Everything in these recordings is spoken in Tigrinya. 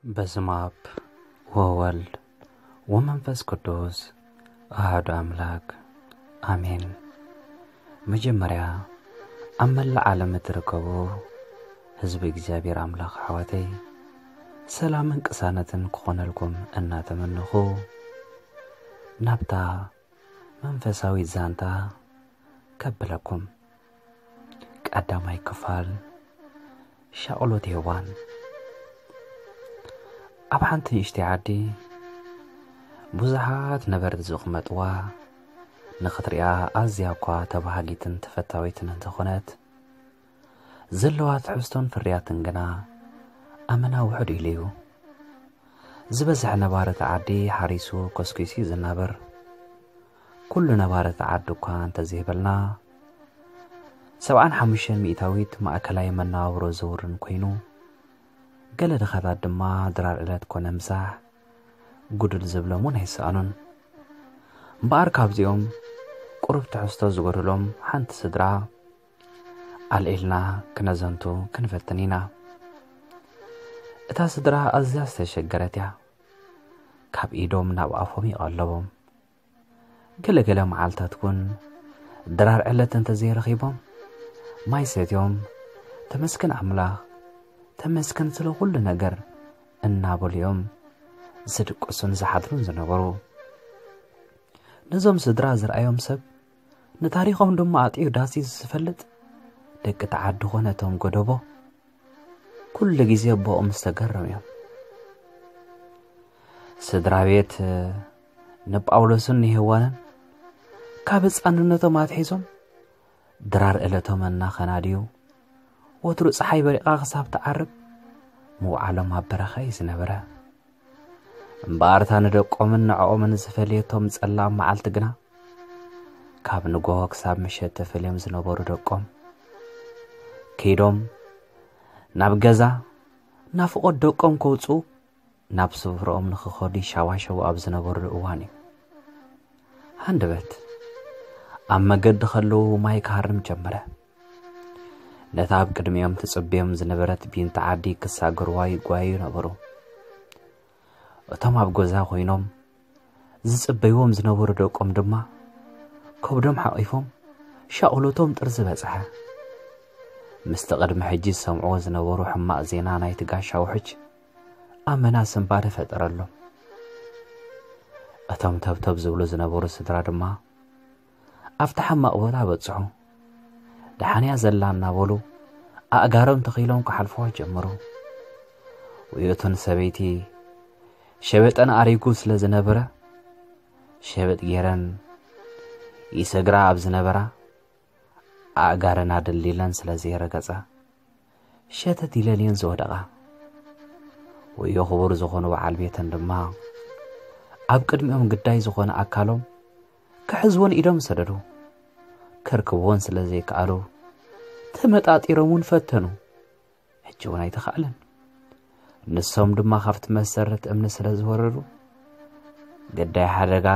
በስመ አብ ወወልድ ወመንፈስ ቅዱስ አሐዱ አምላክ አሜን። መጀመርያ ኣብ መላእ ዓለም እትርከቡ ህዝቢ እግዚኣብሔር ኣምላኽ ኣሕዋተይ፣ ሰላምን ቅሳነትን ክኾነልኩም እናተመነኹ፣ ናብታ መንፈሳዊት ዛንታ ከብለኩም። ቀዳማይ ክፋል፣ ሻቕሎት ሄዋን። ኣብ ሓንቲ ንእሽተይ ዓዲ ብዙሓት ነበርቲ ዝቕመጥዋ፣ ንኽትሪኣ ኣዝያ እኳ ተባሃጊትን ተፈታዊትን እንተኾነት፣ ዘለዋ ትሕዝቶን ፍርያትን ግና ኣመና ውሑድ ኢሉ እዩ። ዝበዝሐ ነባሪ እቲ ዓዲ ሓሪሱ ኮስኪሱ እዩ ዝናበር። ኩሉ ነባሪ እቲ ዓዲ እኳ እንተዘይበልና፣ ሰብዓን ሓሙሽተን ሚእታዊት ማእከላይ መነባብሮ ዘውርን ኮይኑ፣ ገለ ድኻታት ድማ ድራር ዕለት ኮነ ምሳሕ ጉድል ዝብሎም እውን ኣይሰኣኑን። እምበኣር ካብዚኦም ቁሩብ ትሕዝቶ ዝጎደሎም ሓንቲ ስድራ ኣልዒልና ክነዘንቱ ክንፈትን ኢና። እታ ስድራ ኣዝያ ዝተሸገረት እያ። ካብ ኢዶም ናብ ኣፎም ይቐለቦም። ገለ ገለ መዓልታት እውን ድራር ዕለት እንተዘይረኺቦም፣ ማይ ሰትዮም፣ "ተመስገን ኣምላኽ፣ ተመስገን ስለ ኩሉ ነገር" እናበሉ እዮም ዝድቅሱን ዝሓድሩን ዝነበሩ። ነዞም ስድራ ዝረኣዮም ሰብ፣ ንታሪኾም ድማ ኣጥዕዩ ዳሲ ዝፈልጥ፣ ደቂ ተዓዲ ኾነ እቶም ጎደቦ፣ ኩሉ ግዜ ብኦም ዝተገረሙ እዮም። ስድራ ቤት ንጳውሎስን ንሄዋንን ካብ ህፃንነቶም ኣትሒዞም ድራር ዕለቶም እናኸናድዩ፣ ወትሩ ፀሓይ በሪቓ ክሳብ ትዓርብ ምውዓሎም ኣብ በረኻ እዩ ዝነበረ። እምበኣርታ ንደቆምን ንዕኦምን ዝፈልየቶም ጸላም መዓልቲ ግና፣ ካብ ንጎሆ ክሳብ ምሸት ተፈልዮም ዝነበሩ ደቆም፣ ከይዶም ናብ ገዛ ናፍቖት ደቆም ከውጽኡ ናብ ስፍርኦም ንኽኸዱ ይሻዋሸዉ ኣብ ዝነበሩሉ እዋን እዩ። ሃንደበት ኣብ መገዲ ከለዉ ማይ ክሃርም ጀመረ። ነታ ኣብ ቅድሚኦም ትጽበዮም ዝነበረት ቢንት ዓዲ ክሳገርዋ ይጓዩ ነበሩ። እቶም ኣብ ገዛ ኮይኖም ዝጽበይዎም ዝነበሩ ደቆም ድማ ከብዶም ሓቒፎም ሻቕሎቶም ጥርዚ በጽሐ። ምስቲ ቅድሚ ሕጂ ዝሰምዕዎ ዝነበሩ ሕማቕ ዜና ናይቲ ጋሻ ውሕጅ ኣመና ስንባደ ፈጠረሎም። እቶም ተብተብ ዝብሉ ዝነበሩ ስድራ ድማ ኣብቲ ሕማቕ ቦታ በጽሑ። ደሓንያ ዘላ እናበሉ ኣእጋሮም ተኺሎም ክሓልፍዋ ጀመሩ። ውዮቱ ንሰበይቲ ሸበጠን ኣሪጉ ስለ ዝነበረ፣ ሸበጥ ገይረን ይሰግራ ኣብ ዝነበራ ኣእጋረን ኣደልዲለን ስለ ዘይረገጻ፣ ሸተት ኢለን እየን ዝወደቓ። ወዮ ክቡር ዝኾኑ በዓል ቤተን ድማ ኣብ ቅድሚኦም ግዳይ ዝኾነ ኣካሎም ክሕዝዎን ኢዶም ሰደዱ። ከርክብዎን ስለ ዘይከኣሉ፣ ተመጣጢሮም እውን ፈተኑ። ሕጂ እውን ኣይተኻእለን። ንሶም ድማ ካብቲ መሰረት እምኒ ስለ ዝወረዱ፣ ግዳይ ሓደጋ፣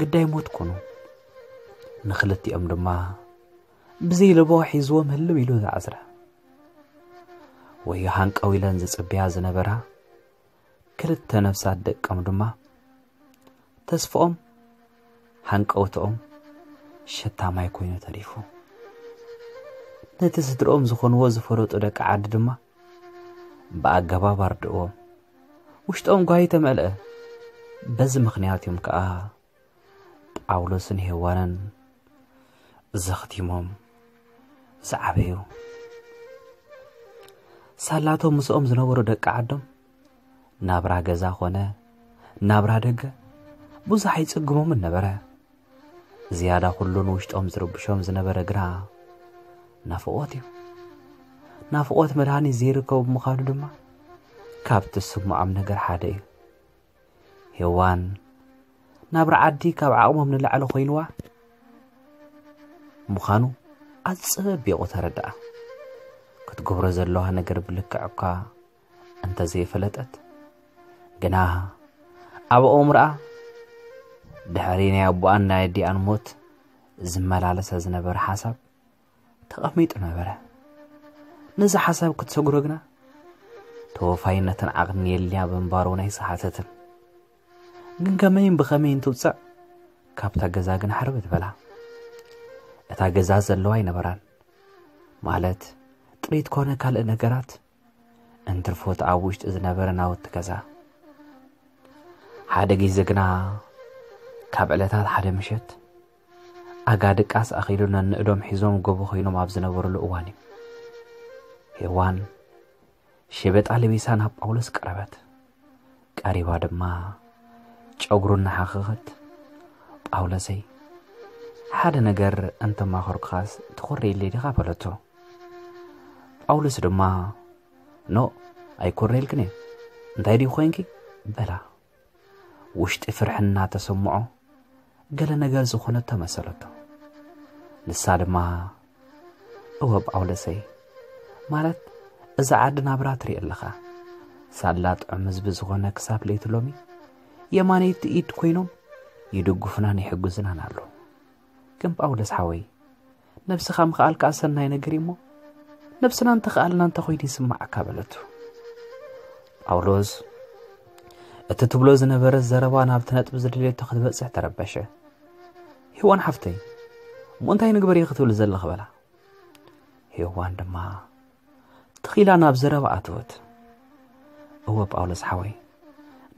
ግዳይ ሞት ኮኑ። ንኽልቲኦም ድማ ብዘይ ለበዋ ሒዝዎም ህልም ኢሉ ዝዓዝረ። ወዮ ሃንቀው ኢለን ዝጽበያ ዝነበራ ክልተ ነፍሳት ደቆም ድማ ተስፍኦም፣ ሃንቀውትኦም ሸታ ማይ ኮይኑ ተሪፉ። ነቲ ስድርኦም ዝኾንዎ ዝፈለጡ ደቂ ዓዲ ድማ ብኣገባብ ኣርድእዎም። ውሽጦም ጓሂ ተመልአ። በዚ ምኽንያት እዮም ከኣ ጳውሎስን ሄዋንን ዘኽቲሞም ዝዓበዩ። ሳላቶም ምስኦም ዝነበሩ ደቂ ዓዶም ናብራ ገዛ ኾነ ናብራ ደገ ብዙሕ ኣይጽግሞምን ነበረ። ዝያዳ ኩሉ ንውሽጦም ዝርብሾም ዝነበረ ግና ናፍቖት እዩ። ናፍቖት መድሃኒት ዘይርከቦ ብምዃኑ ድማ ካብቲ ዝስምዖም ነገር ሓደ እዩ። ሄዋን ናብራ ዓዲ ካብ ዓቕሞም ንላዕሊ ኮይንዋ ምዃኑ ኣጸቢቑ ተረድኣ። ክትገብሮ ዘለዋ ነገር ብልክዕ እኳ እንተዘይፈለጠት፣ ግና ኣብ ኣእምሮኣ ድሕሪ ናይ ኣቦኣን ናይ ኣዲኣን ሞት ዝመላለሳ ዝነበረ ሓሳብ ተቐሚጡ ነበረ። ነዚ ሓሳብ ክትሰግሮ ግና ተወፋይነትን ዓቕን የልያ ብምንባሩ ናይ ሰሓተትን። ግን ከመይን ብኸመይን ትውፅዕ? ካብታ ገዛ ግን ሓርብት በላ። እታ ገዛ ዘለዋ ኣይነበራን። ማለት ጥሪት ኮነ ካልእ ነገራት እንትርፎት ኣብ ውሽጢ ዝነበረ ናውቲ ገዛ። ሓደ ግዜ ግና ካብ ዕለታት ሓደ ምሸት ኣጋ ድቃስ ኣኺሉ ነንእዶም ሒዞም ጎቦ ኮይኖም ኣብ ዝነበሩሉ እዋን እዩ። ሄዋን ሸበጣ ለቢሳ ናብ ጳውሎስ ቀረበት። ቀሪባ ድማ ጨጉሩ እናሓኸኸት፣ "ጳውሎሰይ፣ ሓደ ነገር እንተማኸርኩኻስ ትኾርየለይ ዲኻ?" በለቶ። ጳውሎስ ድማ፣ "ኖ፣ ኣይኮርየልክን እየ። እንታይ ድዩ ኮይንኪ?" በላ። ውሽጢ ፍርሒ እናተሰምዖ፣ ገለ ነገር ዝኾነቶ መሰለቶ። ንሳ ድማ፣ "እወ ጳውሎሰይ፣ ማለት እዛ ዓዲ ናብራ ትርኢ ኣለኻ። ሳላ ጥዑም ህዝቢ ዝኾነ ክሳብ ለይቲ ሎሚ የማነይቲ ኢድ ኮይኖም ይድግፉናን ይሕግዙናን ኣለዉ። ግን ጳውሎስ ሓወይ፣ ነብስኻ ምኽኣል ከኣ ሰናይ ነገር እዩ እሞ፣ ነብስና እንተኽኣልና እንተ ኮይኑ ይስምዓካ?" በለቱ። ጳውሎስ እቲ ትብሎ ዝነበረ ዘረባ ናብቲ ነጥቢ ዝደልየቶ ክትበጽሕ ተረበሸ። "ሄዋን ሓፍተይ፣ እሞ እንታይ ንግበር ኢኺ ክትብል ዘለኺ?" በላ። ሄዋን ድማ ትኺላ ናብ ዘረባ ኣተወት። "እወ ጳውሎስ ሓወይ፣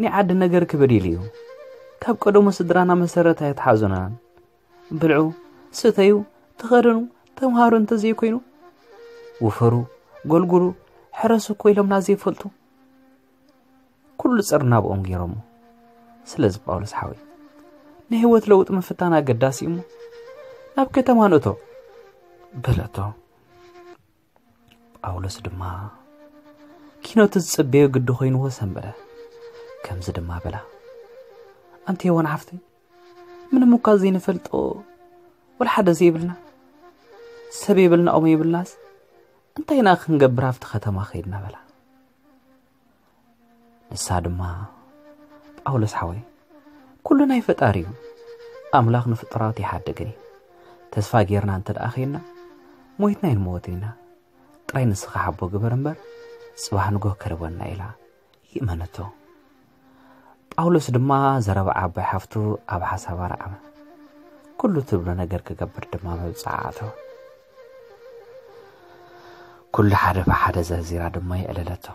ናይ ዓዲ ነገር ክበድ ኢሉ እዩ። ካብ ቀደሙ ስድራና መሰረት ኣይተሓዙናን። ብልዑ፣ ስተዩ፣ ተኸደኑ፣ ተምሃሩ እንተዘይኮይኑ፣ ውፈሩ፣ ጎልጉሉ፣ ሕረሱ እኮ ኢሎምና ዘይፈልጡ። ኩሉ ጸር ናብኦም ገይሮሞ። ስለዚ ጳውሎስ ሓወይ፣ ናይ ህይወት ለውጢ ምፍታን ኣገዳሲ እዩ እሞ፣ ናብ ከተማ ንእቶ" በለቶ። ጳውሎስ ድማ ኪኖቲ ዝጽበዮ ግዲ ኮይንዎ ሰንበደ። ከምዚ ድማ በላ፣ "ኣንቲ ሄዋን ሓፍተይ፣ ምንም እኳ ዘይንፈልጦ ወላ ሓደ ዘይብልና፣ ሰብ የብልና፣ ኦም የብልናስ፣ እንታይ ኢና ክንገብር ኣብቲ ከተማ ከይድና?" በላ። ንሳ ድማ፣ "ጳውሎስ ሓወይ፣ ኩሉ ናይ ፈጣሪ እዩ። ኣምላኽ ንፍጡራት ይሓድግን እዩ። ተስፋ ጌርና እንተ ደኣ ኸይድና፣ ሞይትና ኣይንመወትን ኢና። ጥራይ ንስኻ ሓቦ ግበር እምበር፣ ጽባሕ ንጎህ ከርበና" ኢላ ይእመነቶ። ጳውሎስ ድማ ዘረባ ዓባይ ሓፍቱ ኣብ ሓሳባ ረዓመ። ኩሉ ትብሎ ነገር ክገብር ድማ መብጽዓ ኣተወ። ኩሉ ሓደ ብሓደ ዘርዚራ ድማ የዕለለቶ።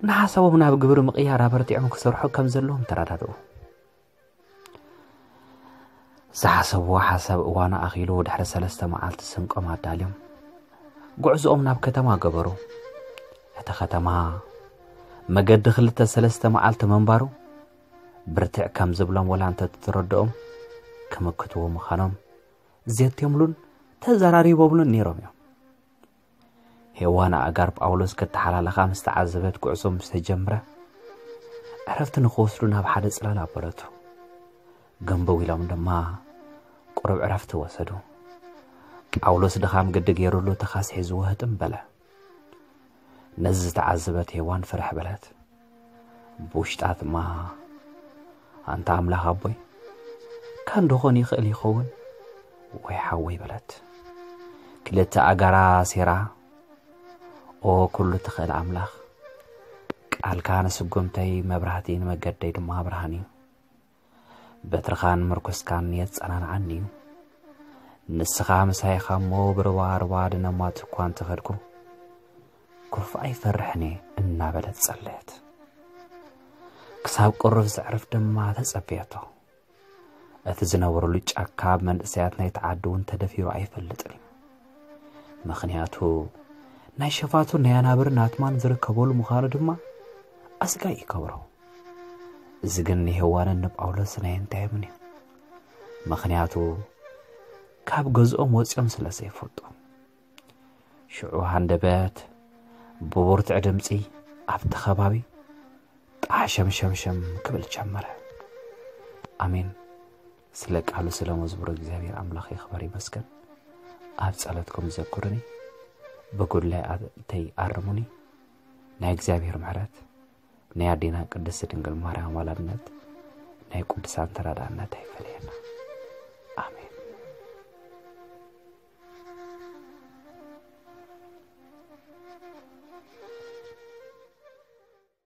ንሓሳቦም ናብ ግብሪ ምቕያር ኣበርቲዖም ክሰርሑ ከም ዘለዎም ተረዳድኡ። ዝሓሰብዎ ሓሳብ እዋኑ ኣኺሉ ድሕሪ ሰለስተ መዓልቲ ስንቆም ኣዳልዮም ጉዕዞኦም ናብ ከተማ ገበሩ። እቲ ከተማ መገዲ ክልተ ሰለስተ መዓልቲ ምንባሩ ብርትዕ ከም ዝብሎም ወላ እንተተረድኦም ክምክትዎ ምዃኖም ዘትዮምሉን ተዘራሪቦምሉን ነይሮም እዮም። ሄዋን ኣእጋር ጳውሎስ ክተሓላለኻ ምስ ተዓዘበት ጉዕዞ ምስ ተጀምረ ዕረፍቲ ንኽወስዱ ናብ ሓደ ጽላል ኣበለቱ። ገንበው ኢሎም ድማ ቁሩብ ዕረፍቲ ወሰዱ። ጳውሎስ ድኻም ግዲ ገይሩሉ ተኻስ ሒዝዎ ህጥም በለ። ነዚ ዝተዓዘበት ሄዋን ፍርሕ በለት። ብውሽጣ ድማ ኣንታ ኣምላኽ ኣቦይ፣ ካን ደኾን ይኽእል ይኸውን ወይ ሓወይ በለት። ክልተ ኣጋራ ሴራ፣ ኦ ኩሉ ትኽእል ኣምላኽ፣ ቃልካ ንስጉምተይ መብራህቲ ንመገደይ ድማ ብርሃን እዩ። በትርኻን ምርኩስካን የጸናንዓኒ እዩ። ንስኻ ምሳይ ኢኻ እሞ ብርባ ርባ ድነማት እኳ እንተኸድኩ፣ ክፉእ ኣይፈርሕን እየ እናበለት ጸለየት። ክሳብ ቁሩብ ዘዕርፍ ድማ ተጸበየቶ። እቲ ዝነበሩሉ ጫካ ኣብ መንእሰያት ናይቲ ዓዲ እውን ተደፊሩ ኣይፈልጥን እዩ። ምኽንያቱ ናይ ሸፋቱን ናይ ኣናብርን ኣትማን ዝርከበሉ ምዃኑ ድማ ኣስጋኢ ይገብሮ። እዚ ግን ንሄዋንን ንጳውሎስን ኣየንታዮምን እዩ። ምኽንያቱ ካብ ገዝኦም ወጺኦም ስለ ዘይፈልጡ። ሽዑ ሃንደበት ብብርቱዕ ድምጺ ኣብቲ ከባቢ ጣሕ ሸምሸምሸም ክብል ጀመረ። ኣሜን። ስለ ቃሉ ስለ መዝሙሩ እግዚኣብሔር ኣምላኽ ይኽበር ይመስገን። ኣብ ጸሎትኩም ዘክሩኒ፣ ብጉድለይ ኣተይ ኣርሙኒ። ናይ እግዚኣብሔር ምሕረት፣ ናይ ኣዴና ቅድስቲ ድንግል ማርያም ኣማላድነት፣ ናይ ቅዱሳን ተራዳእነት ኣይፈለየና። ኣሜን።